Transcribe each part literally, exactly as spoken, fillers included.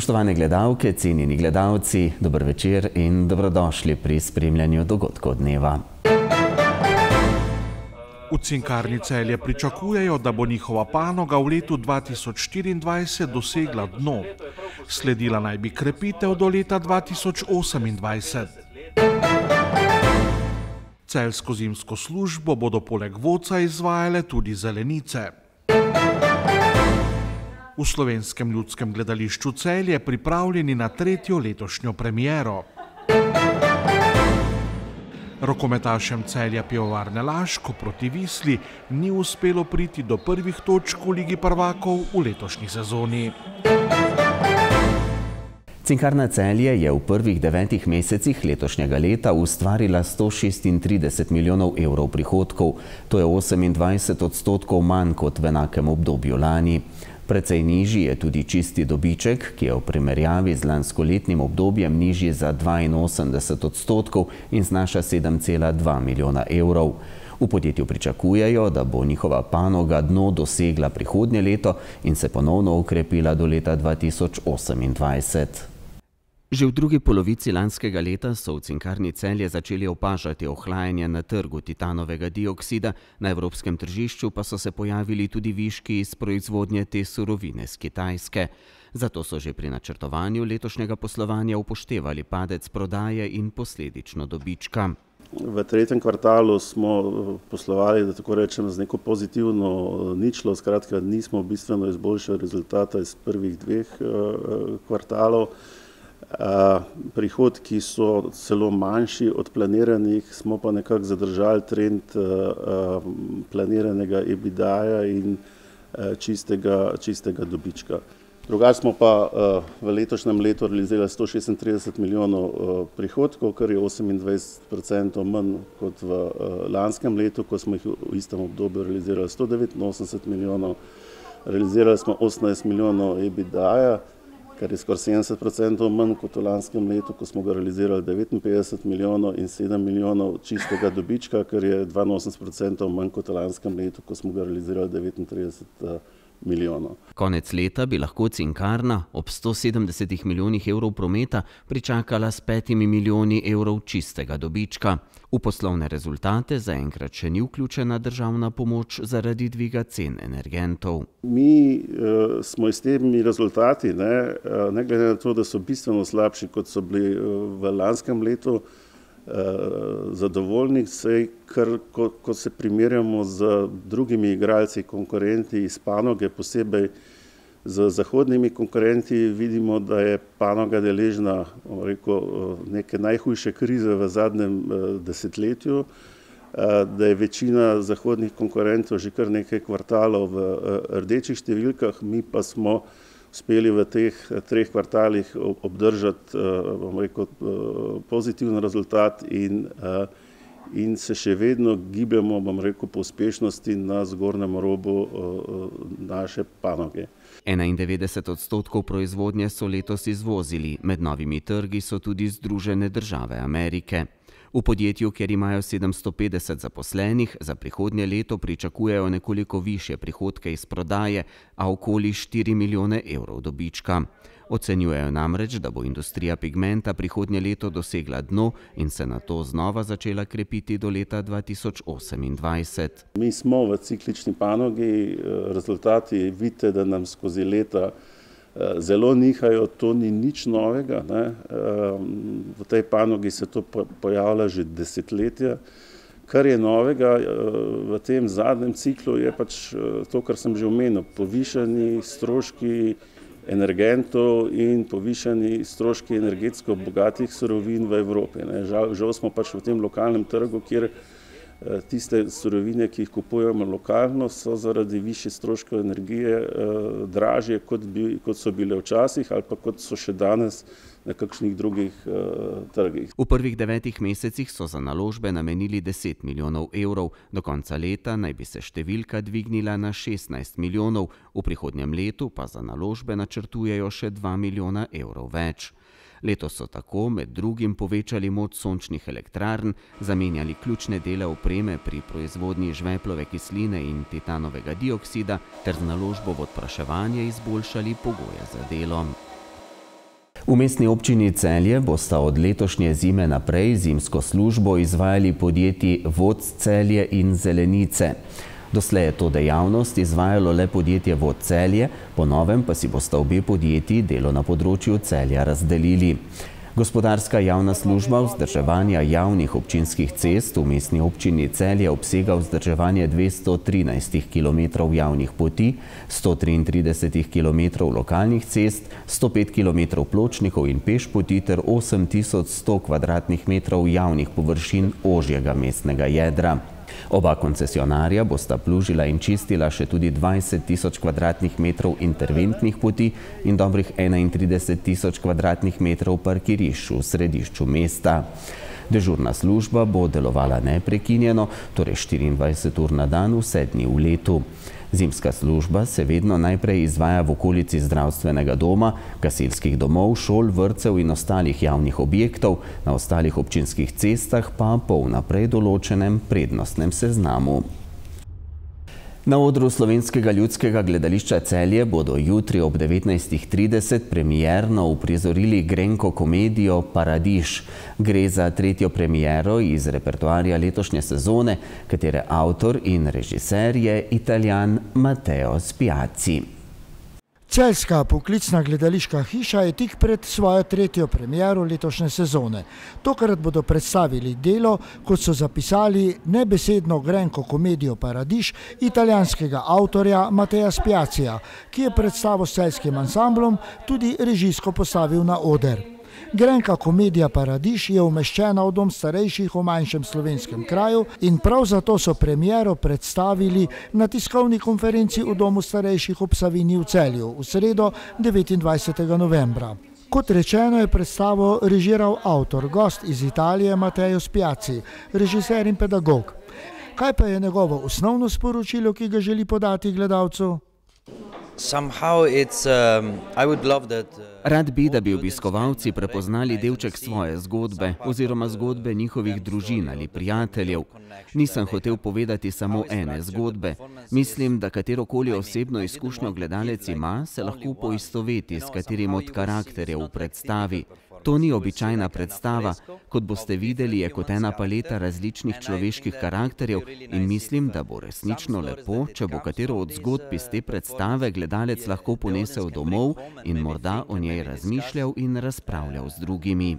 Spoštovane gledalke, cenjeni gledalci, dober večer in dobrodošli pri spremljanju dogodkov dneva. V Cinkarni Celje pričakujejo, da bo njihova panoga v letu dva tisoč štiriindvajset dosegla dno. Sledila naj bi krepitev do leta dva tisoč osemindvajset. Celjsko zimsko službo bodo poleg vodca izvajale tudi zelenice. V Slovenskem ljudskem gledališču Celje pripravljeni na tretjo letošnjo premiero. Rokometašem Celja Pivovarne Laško proti Visli ni uspelo priti do prvih točk v Ligi prvakov v letošnji sezoni. Cinkarna Celje je v prvih devetih mesecih letošnjega leta ustvarila sto šestintrideset milijonov evrov prihodkov, to je osemindvajset odstotkov manj kot v enakem obdobju lani. Precej nižji je tudi čisti dobiček, ki je v primerjavi z lanskoletnim obdobjem nižji za dvainosemdeset odstotkov in znaša sedem cela dva milijona evrov. V podjetju pričakujejo, da bo njihova panoga dno dosegla prihodnje leto in se ponovno okrepila do leta dva tisoč osemindvajset. Že v drugi polovici lanskega leta so v Cinkarni Celje začeli opažati ohlajanje na trgu titanovega dioksida, na evropskem tržišču pa so se pojavili tudi viški iz proizvodnje te surovine z Kitajske. Zato so že pri načrtovanju letošnjega poslovanja upoštevali padec prodaje in posledično dobička. V tretjem kvartalu smo poslovali, da tako rečem, z neko pozitivno ničlo, skratka nismo bistveno izboljšali rezultata iz prvih dveh kvartalov. Prihodki so celo manjši od planiranih, smo pa nekako zadržali trend planiranega EBITDA-ja in čistega, čistega dobička. Drugače smo pa v letošnjem letu realizirali sto šestintrideset milijonov prihodkov, kar je osemindvajset procentov manj kot v lanskem letu, ko smo jih v istem obdobju realizirali sto devetinosemdeset milijonov. Realizirali smo osemnajst milijonov EBITDA-ja, kar je skoraj sedemdeset procentov manj kot v lanskem letu, ko smo ga realizirali devetinpetdeset milijonov in sedem milijonov čistega dobička, kar je dvainosemdeset procentov manj kot v lanskem letu, ko smo ga realizirali devetintrideset milijonov. Konec leta bi lahko Cinkarna ob sto sedemdesetih milijonih evrov prometa pričakala s petimi milijoni evrov čistega dobička. V poslovne rezultate zaenkrat še ni vključena državna pomoč zaradi dviga cen energentov. Mi uh, smo s temi rezultati, ne, uh, ne glede na to, da so bistveno slabši, kot so bili uh, v lanskem letu, uh, zadovoljni, saj kar, ko, ko se primerjamo z drugimi igralci, konkurenti iz panoge, posebej z zahodnimi konkurenti, vidimo, da je panoga deležna rekel, neke najhujše krize v zadnjem desetletju, da je večina zahodnih konkurentov že kar nekaj kvartalov v rdečih številkah, mi pa smo uspeli v teh treh kvartalih obdržati bom rekel, pozitiven rezultat in, in se še vedno gibljamo, bom rekel, po uspešnosti na zgornjem robu naše panoge. enaindevetdeset odstotkov proizvodnje so letos izvozili, med novimi trgi so tudi Združene države Amerike. V podjetju, kjer imajo sedemsto petdeset zaposlenih, za prihodnje leto pričakujejo nekoliko višje prihodke iz prodaje, a okoli štiri milijone evrov dobička. Ocenjujejo namreč, da bo industrija pigmenta prihodnje leto dosegla dno in se nato znova začela krepiti do leta dva tisoč osemindvajset. Mi smo v ciklični panogi, rezultati vidite, da nam skozi leta zelo nihajo, to ni nič novega, ne. V tej panogi se to pojavlja že desetletja. Kar je novega v tem zadnjem ciklu je pač to, kar sem že omenil, povišani stroški energentov in povišani stroški energetsko bogatih surovin v Evropi. Žal, žal smo pač v tem lokalnem trgu, kjer tiste surovine, ki jih kupujemo lokalno, so zaradi višje stroškov energije dražje, kot, bi, kot so bile včasih ali pa kot so še danes na kakšnih drugih uh, trgih. V prvih devetih mesecih so za naložbe namenili deset milijonov evrov, do konca leta naj bi se številka dvignila na šestnajst milijonov, v prihodnjem letu pa za naložbe načrtujejo še dva milijona evrov več. Letos so tako med drugim povečali moč sončnih elektrarn, zamenjali ključne dele opreme pri proizvodnji žveplove kisline in titanovega dioksida ter z naložbo v odpraševanje izboljšali pogoje za delo. V mestni občini Celje bosta od letošnje zime naprej zimsko službo izvajali podjetji Vod Celje in Zelenice. Doslej je to dejavnost izvajalo le podjetje Vod Celje, po novem pa si bosta obe podjetji delo na področju Celja razdelili. Gospodarska javna služba vzdrževanja javnih občinskih cest v mestni občini Celje obsega vzdrževanje dvesto trinajst kilometrov javnih poti, sto triintrideset kilometrov lokalnih cest, sto pet kilometrov pločnikov in pešpoti ter osem tisoč sto kvadratnih metrov javnih površin ožjega mestnega jedra. Oba koncesionarja bosta plužila in čistila še tudi dvajset tisoč kvadratnih metrov interventnih poti in dobrih enaintrideset tisoč kvadratnih metrov parkirišč v središču mesta. Dežurna služba bo delovala neprekinjeno, torej štiriindvajset ur na dan, vse dni v letu. Zimska služba se vedno najprej izvaja v okolici zdravstvenega doma, gasilskih domov, šol, vrtcev in ostalih javnih objektov, na ostalih občinskih cestah pa po vnaprej določenem prednostnem seznamu. Na odru Slovenskega ljudskega gledališča Celje bodo jutri ob devetnajstih trideset premierno uprizorili grenko komedijo Paradiž. Gre za tretjo premiero iz repertoarja letošnje sezone, katere avtor in režiser je Italijan Matteo Spiazzi. Celjska poklicna gledališka hiša je tik pred svojo tretjo premiero letošnje sezone. Tokrat bodo predstavili delo, kot so zapisali, nebesedno grenko komedijo Paradiž italijanskega avtorja Mattea Spiazzija, ki je predstavo s celjskim ansamblom tudi režijsko postavil na oder. Grenka komedija Paradiž je umeščena v dom starejših v manjšem slovenskem kraju in prav zato so premiero predstavili na tiskovni konferenci v domu starejših ob Savinji v Celju v sredo devetindvajsetega novembra. Kot rečeno, je predstavo režiral avtor, gost iz Italije Matteo Spiazzi, režiser in pedagog. Kaj pa je njegovo osnovno sporočilo, ki ga želi podati gledalcu? Rad bi, da bi obiskovalci prepoznali delček svoje zgodbe oziroma zgodbe njihovih družin ali prijateljev. Nisem hotel povedati samo ene zgodbe. Mislim, da katerokoli osebno izkušnjo gledalec ima, se lahko poistoveti s katerim od karakterjev v predstavi. To ni običajna predstava, kot boste videli, je kot ena paleta različnih človeških karakterjev in mislim, da bo resnično lepo, če bo katero od zgodb iz te predstave gledalec lahko ponesel domov in morda o njej razmišljal in razpravljal z drugimi.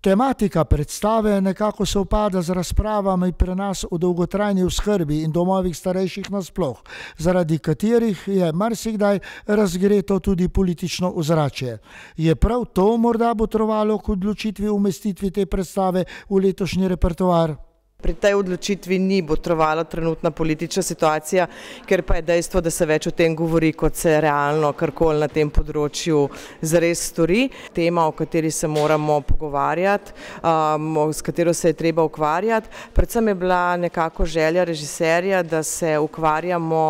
Tematika predstave nekako sovpada z razpravami pri nas o dolgotrajni oskrbi in domovih starejših nasploh, zaradi katerih je marsikdaj razgreto tudi politično ozračje. Je prav to morda botrovalo k odločitvi umestitvi te predstave v letošnji repertoar? Pri tej odločitvi ni botrovala trenutna politična situacija, ker pa je dejstvo, da se več o tem govori, kot se realno karkoli na tem področju zares stori. Tema, o kateri se moramo pogovarjati, um, s katero se je treba ukvarjati. Predvsem je bila nekako želja režiserja, da se ukvarjamo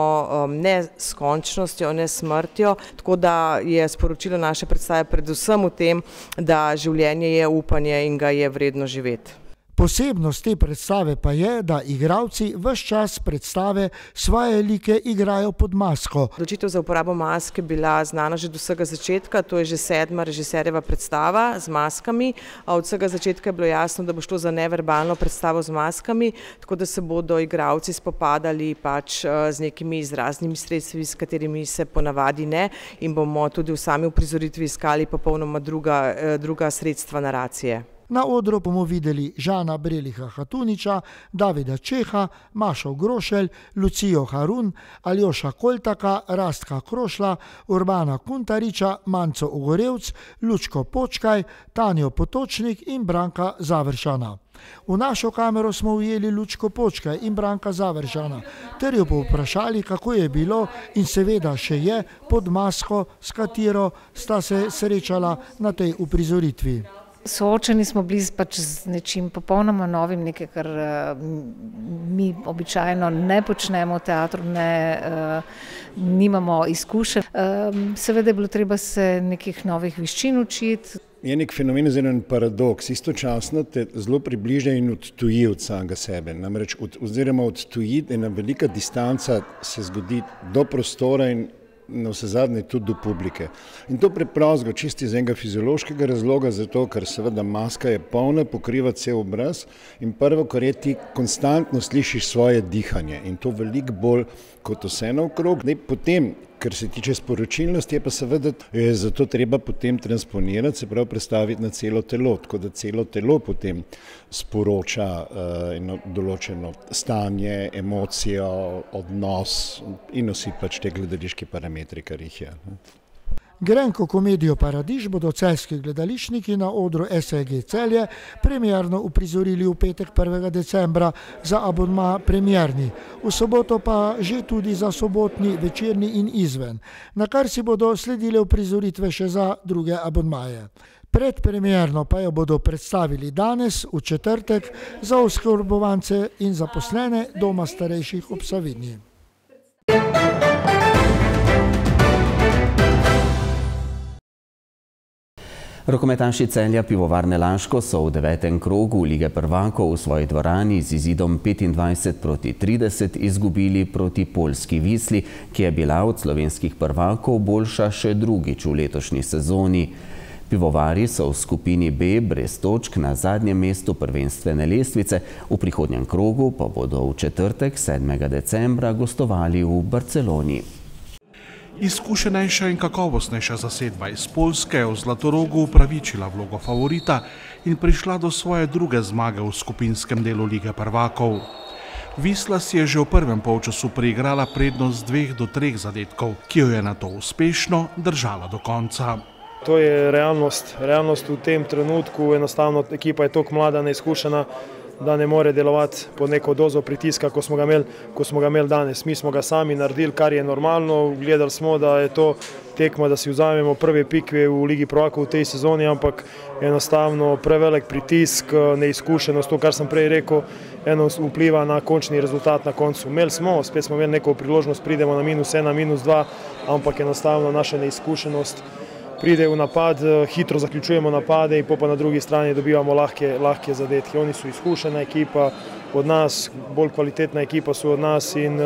um, ne s končnostjo, ne s smrtjo, tako da je sporočilo naše predstave predvsem v tem, da življenje je upanje in ga je vredno živeti. Posebnost te predstave pa je, da igralci ves čas predstave svoje like igrajo pod masko. Odločitev za uporabo maske je bila znana že do vsega začetka, to je že sedma režiserjeva predstava z maskami. Od vsega začetka je bilo jasno, da bo šlo za neverbalno predstavo z maskami, tako da se bodo igralci spopadali pač z nekimi izraznimi sredstvi, s katerimi se ponavadi ne, in bomo tudi v sami uprizoritvi iskali popolnoma druga, druga sredstva naracije. Na odru bomo videli Žana Breliha Hatuniča, Davida Čeha, Mašo Grošelj, Lucijo Harun, Aljoša Koltaka, Rastka Krošla, Urbana Kuntariča, Manco Ogorevc, Lučko Počkaj, Tanjo Potočnik in Branka Završana. V našo kamero smo ujeli Lučko Počkaj in Branka Završana, ter jo povprašali, kako je bilo in seveda še je pod masko, s katero sta se srečala na tej uprizoritvi. Soočeni smo bili pač z nečim popolnoma novim, nekaj, kar mi običajno ne počnemo v teatru, ne, nimamo izkušenj. Seveda je bilo treba se nekih novih veščin učiti. Je nek fenomen oziroma en paradoks, istočasno te zelo približa in odtuji od samega sebe. Namreč od, oziroma odtuji, ena velika distanca se zgodi do prostora in na vse zadnje tudi do publike. In to preprosto čisti iz enega fiziološkega razloga, zato ker seveda maska je polna, pokriva cel obraz in prvo, kar je, ti konstantno slišiš svoje dihanje in to veliko bolj kot vse naokrog. Potem, kar se tiče sporočilnosti, je pa seveda je zato treba potem transponirati, se pravi predstaviti na celo telo, tako da celo telo potem sporoča uh, eno določeno stanje, emocijo, odnos in vsi pač te gledališki parametri, kar jih je. Grenko komedijo Paradiž bodo celjski gledališčniki na odru S A G Celje premierno uprizorili v petek prvega decembra za abonma premierni, v soboto pa že tudi za sobotni, večerni in izven, na kar si bodo sledile uprizoritve še za druge abonmaje. Predpremierno pa jo bodo predstavili danes, v četrtek, za oskrbovance in zaposlene doma starejših ob Savinji. Rokometaši Celja Pivovarne Laško so v devetem krogu Lige prvakov v svoji dvorani z izidom petindvajset proti trideset izgubili proti poljski Visli, ki je bila od slovenskih prvakov boljša še drugič v letošnji sezoni. Pivovari so v skupini B brez točk na zadnjem mestu prvenstvene lestvice, v prihodnjem krogu pa bodo v četrtek sedmega decembra gostovali v Barceloni. Izkušenejša in kakovostnejša zasedba iz Poljske je v Zlatorogu upravičila vlogo favorita in prišla do svoje druge zmage v skupinskem delu Lige prvakov. Visla si je že v prvem polčasu priigrala prednost dveh do treh zadetkov, ki jo je nato uspešno držala do konca. To je realnost, realnost v tem trenutku, enostavno ekipa je toliko mlada, neizkušena, da ne more delovati pod neko dozo pritiska, ko smo ga imeli, ko smo ga imeli danes. Mi smo ga sami naredili, kar je normalno, gledali smo, da je to tekma, da si vzamemo prve pikve v Ligi prvakov v tej sezoni, ampak enostavno prevelik pritisk, neizkušenost, to, kar sem prej rekel, eno vpliva na končni rezultat na koncu. Imeli smo, spet smo imeli neko priložnost, pridemo na minus ena, minus dva, ampak enostavno naša neizkušenost pride v napad, hitro zaključujemo napade in pa na drugi strani dobivamo lahke, lahke zadetke. Oni so izkušena ekipa od nas, bolj kvalitetna ekipa so od nas in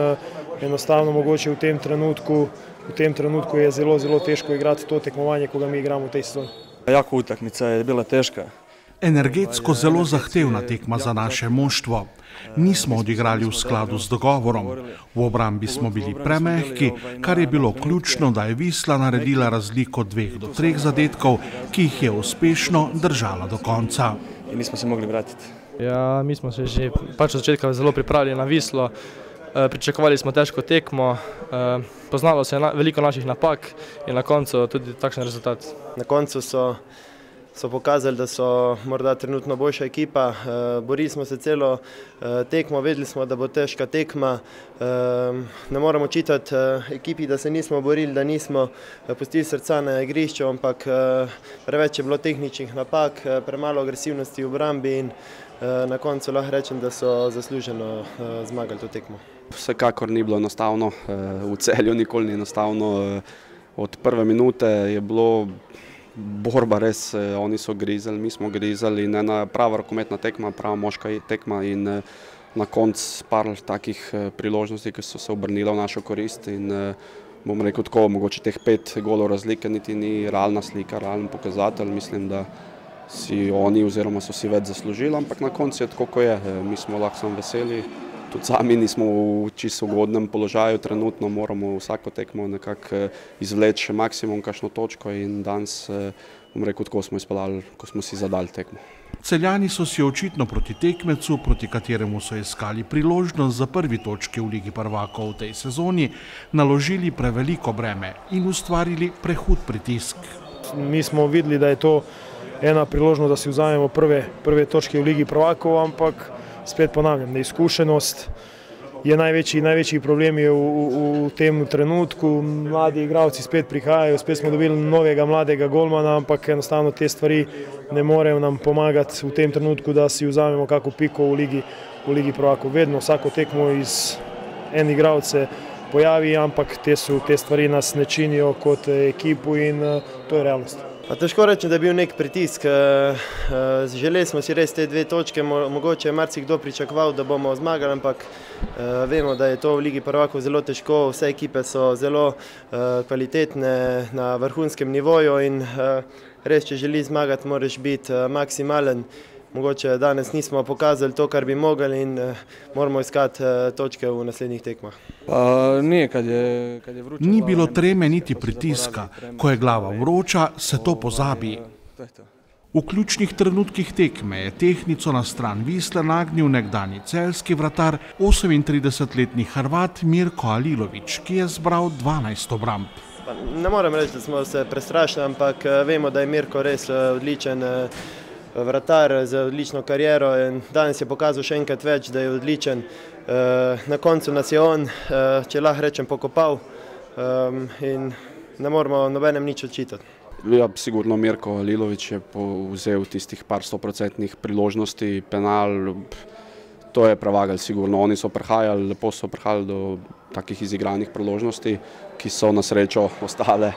enostavno mogoče v tem trenutku, v tem trenutku je zelo, zelo težko igrati to tekmovanje, ko ga mi igramo v tej sezoni. Jako utakmica je bila težka. Energetsko zelo zahtevna tekma za naše moštvo. Nismo odigrali v skladu z dogovorom. V obrambi smo bili premehki, kar je bilo ključno, da je Visla naredila razliko dveh do treh zadetkov, ki jih je uspešno držala do konca. In nismo se mogli vratiti. Ja, mi smo se že pač od začetka zelo pripravili na Vislo. Pričakovali smo težko tekmo, poznalo se je veliko naših napak in na koncu tudi takšen rezultat. Na koncu so so pokazali, da so morda trenutno boljša ekipa. Borili smo se celo tekmo, vedeli smo, da bo težka tekma. Ne moramo očitati ekipi, da se nismo borili, da nismo pustili srca na igrišču, ampak preveč je bilo tehničnih napak, premalo agresivnosti v obrambi in na koncu lahko rečem, da so zasluženo zmagali to tekmo. Vsekakor ni bilo enostavno, v Celju nikoli ni enostavno. Od prve minute je bilo borba res, oni so grizali, mi smo grizali in ena prava rokometna tekma, prava moška tekma in na koncu par takih priložnosti, ki so se obrnile v našo korist in bom rekel tako, mogoče teh pet golov razlike niti ni realna slika, realen pokazatelj, mislim, da si oni oziroma so si več zaslužili, ampak na koncu je tako, ko je, mi smo lahko samo veseli. Tudi sami nismo v čisto ugodnem položaju, trenutno moramo vsako tekmo nekako izvleči maksimum kakšno točko in danes, bom rekel, tako smo izpeljali, ko smo si zadali tekmo. Celjani so si očitno proti tekmecu, proti kateremu so iskali priložnost za prvi točki v Ligi prvakov v tej sezoni, naložili preveliko breme in ustvarili prehud pritisk. Mi smo videli, da je to ena priložnost, da si vzamemo prve, prve točke v Ligi prvakov, ampak spet ponavljam, neizkušenost je največji, največji problem je v, v, v tem trenutku. Mladi igralci spet prihajajo, spet smo dobili novega mladega golmana, ampak enostavno te stvari ne morejo nam pomagati v tem trenutku, da si vzamemo kako piko v Ligi, v Ligi prvakov. Vedno vsako tekmo iz en igralec se pojavi, ampak te, so, te stvari nas ne činijo kot ekipu in to je realnost. Pa težko rečem, da je bil nek pritisk. Želeli smo si res te dve točke, mogoče je marsikdo pričakoval, da bomo zmagali, ampak vemo, da je to v Ligi prvakov zelo težko. Vse ekipe so zelo kvalitetne na vrhunskem nivoju in res, če želi zmagati, moraš biti maksimalen. Mogoče danes nismo pokazali to, kar bi mogli in moramo iskati točke v naslednjih tekmah. Ni, kad je, kad je vroče. Ni bilo treme niti pritiska. Ko je glava vroča, se to pozabi. V ključnih trenutkih tekme je tehtnico na stran Visle nagnil nekdanji celjski vratar, osemintridesetletni Hrvat Mirko Alilović, ki je zbral dvanajst obramb. Ne morem reči, da smo se prestrašili, ampak vemo, da je Mirko res odličen vratar z odlično kariero in danes je pokazal še enkrat več, da je odličen. Na koncu nas je on, če lahko rečem, pokopal in ne moramo nobenem nič očitati. Ja, sigurno Mirko Alilović je vzel tistih par stoprocentnih priložnosti, penal, to je prevagal sigurno. Oni so prihajali, lepo so prihajali do takih izigranih priložnosti, ki so na srečo ostale.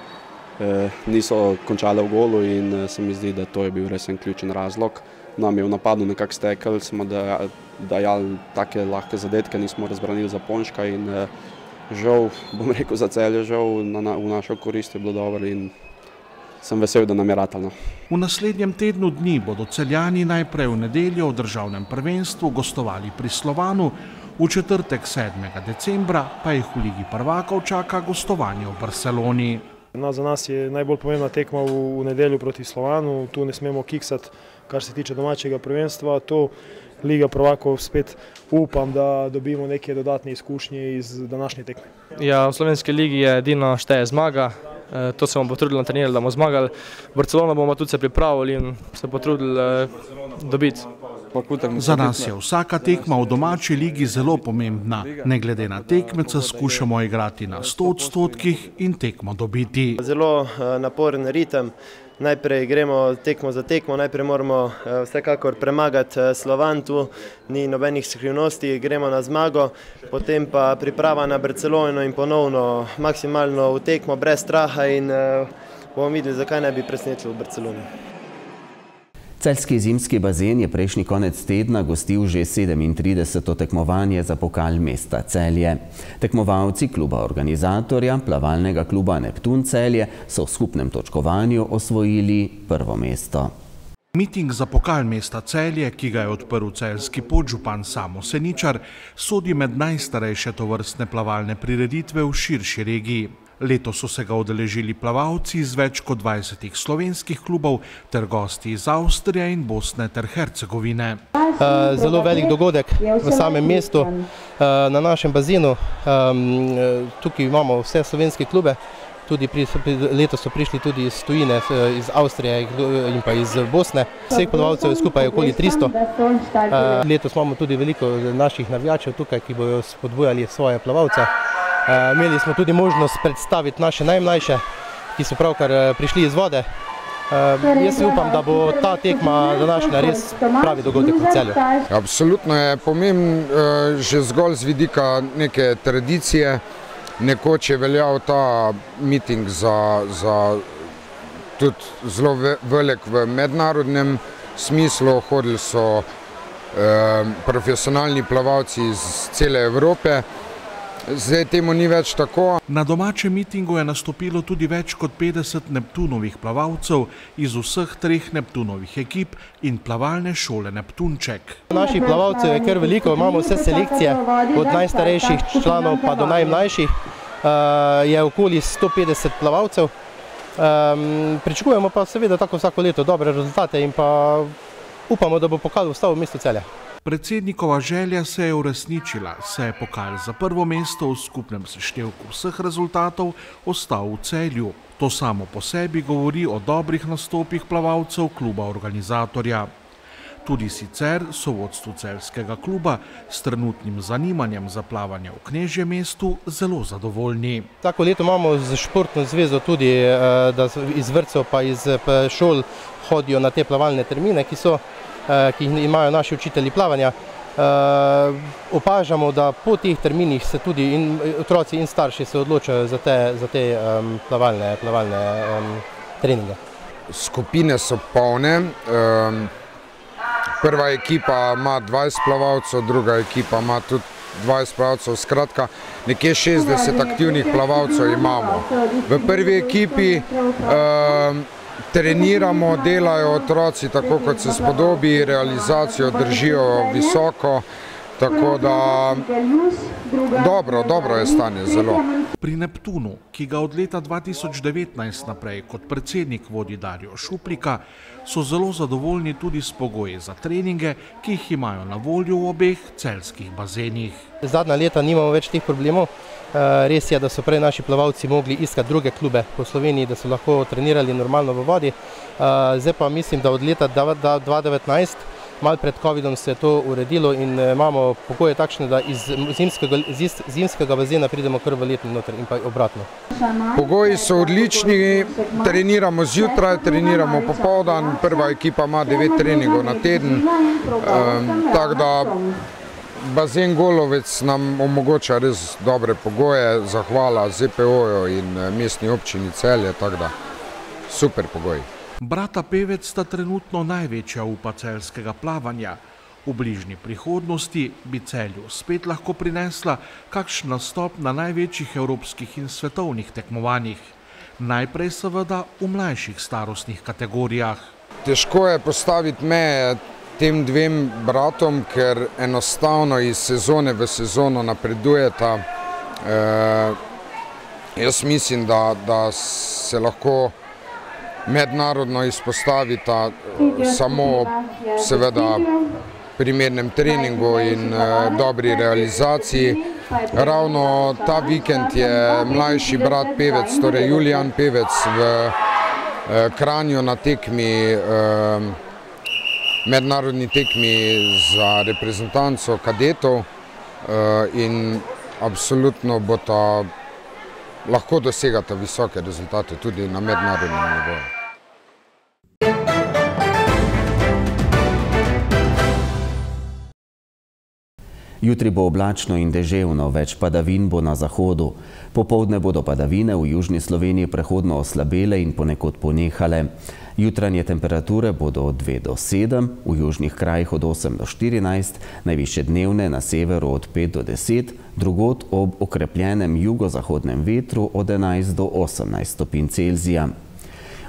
Niso končale v golu in se mi zdi, da to je bil res en ključen razlog. Nam je v napadu nekako stekel, smo dajali take lahke zadetke, nismo razbranili za Ponška in žal, bom rekel za Celje, žal v našo korist je bilo dobro in sem vesel, da nam je ratalo. V naslednjem tednu dni bodo Celjani najprej v nedeljo v državnem prvenstvu gostovali pri Slovanu, v četrtek sedmega decembra pa jih v Ligi prvakov čaka gostovanje v Barceloni. Za nas je najbolj pomembna tekma v nedeljo proti Slovanu, tu ne smemo kiksati, kar se tiče domačega prvenstva. To Liga prvakov spet upam, da dobimo neke dodatne izkušnje iz današnje tekme. Ja, v slovenski ligi je edino šteje zmaga, to se bomo potrudili na trenirali, da bomo zmagali. V Barcelono bomo tudi se pripravili in se potrudili dobiti. Za nas je vsaka tekma v domači ligi zelo pomembna. Ne glede na tekmeca skušamo igrati na sto odstotkih in tekmo dobiti. Zelo naporen ritem. Najprej gremo tekmo za tekmo, najprej moramo vsekakor premagati Slovan, tu ni nobenih skrivnosti, gremo na zmago, potem pa priprava na Barcelono in ponovno maksimalno v tekmo brez straha in bomo videli, zakaj ne bi presenetili v Barceloni. Celjski zimski bazen je prejšnji konec tedna gostil že sedemintrideseto tekmovanje za pokal mesta Celje. Tekmovalci kluba organizatorja, plavalnega kluba Neptun Celje, so v skupnem točkovanju osvojili prvo mesto. Miting za pokal mesta Celje, ki ga je odprl celjski podžupan Samo Seničar, sodi med najstarejše tovrstne plavalne prireditve v širši regiji. Letos so se ga udeležili plavalci iz več kot dvajsetih slovenskih klubov ter gosti iz Avstrije in Bosne ter Hercegovine. Zelo velik dogodek v samem mestu, na našem bazenu. Tukaj imamo vse slovenske klube, tudi letos so prišli tudi iz tujine, iz Avstrije in pa iz Bosne. Vseh plavalcev je skupaj okoli tristo. Letos imamo tudi veliko naših navijačev tukaj, ki bodo spodbujali svoje plavalce. Imeli smo tudi možnost predstaviti naše najmlajše, ki so pravkar prišli iz vode. Jaz upam, da bo ta tekma današnja res pravi dogodek v Celju. Absolutno je pomemben že zgolj z vidika neke tradicije. Nekoč je veljal ta miting za, za tudi zelo velik v mednarodnem smislu. Hodili so eh, profesionalni plavalci iz cele Evrope. Zdaj temu ni več tako. Na domačem mitingu je nastopilo tudi več kot petdeset Neptunovih plavalcev iz vseh treh Neptunovih ekip in plavalne šole Neptunček. Naših plavalcev je kar veliko, imamo vse selekcije, od najstarejših članov pa do najmlajših. Je okoli sto petdeset plavalcev. Pričakujemo pa seveda tako vsako leto dobre rezultate in pa upamo, da bo pokal ostal v mestu Celje. Predsednikova želja se je uresničila, saj je pokal za prvo mesto v skupnem seštevku vseh rezultatov ostal v Celju. To samo po sebi govori o dobrih nastopih plavalcev kluba organizatorja. Tudi sicer so vodstvu celjskega kluba s trenutnim zanimanjem za plavanje v Knežjem mestu zelo zadovoljni. Tako leto imamo z športno zvezo tudi, da iz vrtcev pa iz šol hodijo na te plavalne termine, ki so ki imajo naši učitelji plavanja. Opažamo, da po teh terminih se tudi in otroci in starši se odločajo za te, za te um, plavalne, plavalne um, treninge. skupine so polne. Prva ekipa ima dvajset plavalcev, druga ekipa ima tudi dvajset plavalcev, skratka nekje šestdeset aktivnih plavalcev imamo. V prvi ekipi treniramo, delajo otroci tako, kot se spodobi, realizacijo držijo visoko, tako da dobro, dobro je stanje, zelo. Pri Neptunu, ki ga od leta dva tisoč devetnajst naprej kot predsednik vodi Darjo Šuplika, so zelo zadovoljni tudi s pogoji za treninge, ki jih imajo na voljo v obeh celjskih bazenih. Zadnja leta nimamo več teh problemov. Res je, da so prej naši plavalci mogli iskati druge klube po Sloveniji, da so lahko trenirali normalno v vodi. Zdaj pa mislim, da od leta dva tisoč devetnajst, malo pred covidom, se je to uredilo in imamo pogoje takšne, da iz zimskega, iz zimskega bazena pridemo kar v letni noter in pa obratno. Pogoji so odlični, treniramo zjutraj, treniramo popoldan, prva ekipa ima devet treningov na teden, tako da bazen Golovec nam omogoča res dobre pogoje, zahvala Z P O-ju in mestni občini Celje, tako da super pogoji. Brata Pevec sta trenutno največja upa celjskega plavanja. V bližnji prihodnosti bi Celju spet lahko prinesla kakšen nastop na največjih evropskih in svetovnih tekmovanjih. Najprej seveda v mlajših starostnih kategorijah. Težko je postaviti meje tem dvem bratom, ker enostavno iz sezone v sezono napredujeta. Jaz mislim, da se lahko mednarodno izpostavita samo seveda primernem treningu in dobri realizaciji. Ravno ta vikend je mlajši brat Pevec, torej Julijan Pevec, v Kranju na tekmi, mednarodni tekmi za reprezentanco kadetov in absolutno bo ta lahko dosegata visoke rezultate tudi na mednarodnem nivoju. Jutri bo oblačno in deževno, več padavin bo na zahodu. Popoldne bodo padavine v južni Sloveniji prehodno oslabele in ponekod ponehale. Jutranje temperature bodo od dve do sedem, v južnih krajih od osem do štirinajst, najvišje dnevne na severu od pet do deset, drugod ob okrepljenem jugozahodnem vetru od enajst do osemnajst stopinj Celzija.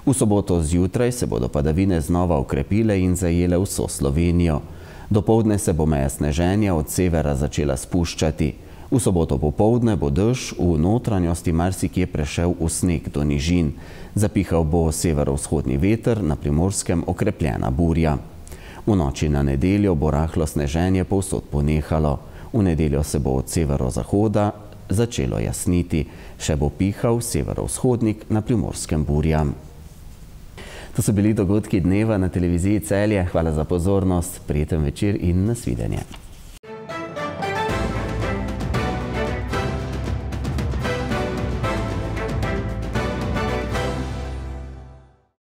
V soboto zjutraj se bodo padavine znova okrepile in zajele vso Slovenijo. Dopoldne se bo meja sneženja od severa začela spuščati. V soboto popoldne bo dež v notranjosti marsikje prešel v sneg do nižin. Zapihal bo severovzhodni veter, na Primorskem okrepljena burja. V noči na nedeljo bo rahlo sneženje povsod ponehalo. V nedeljo se bo od severozahoda začelo jasniti. Še bo pihal severovzhodnik, na Primorskem burja. To so bili dogodki dneva na televiziji Celje. Hvala za pozornost, prijeten večer in nasvidenje.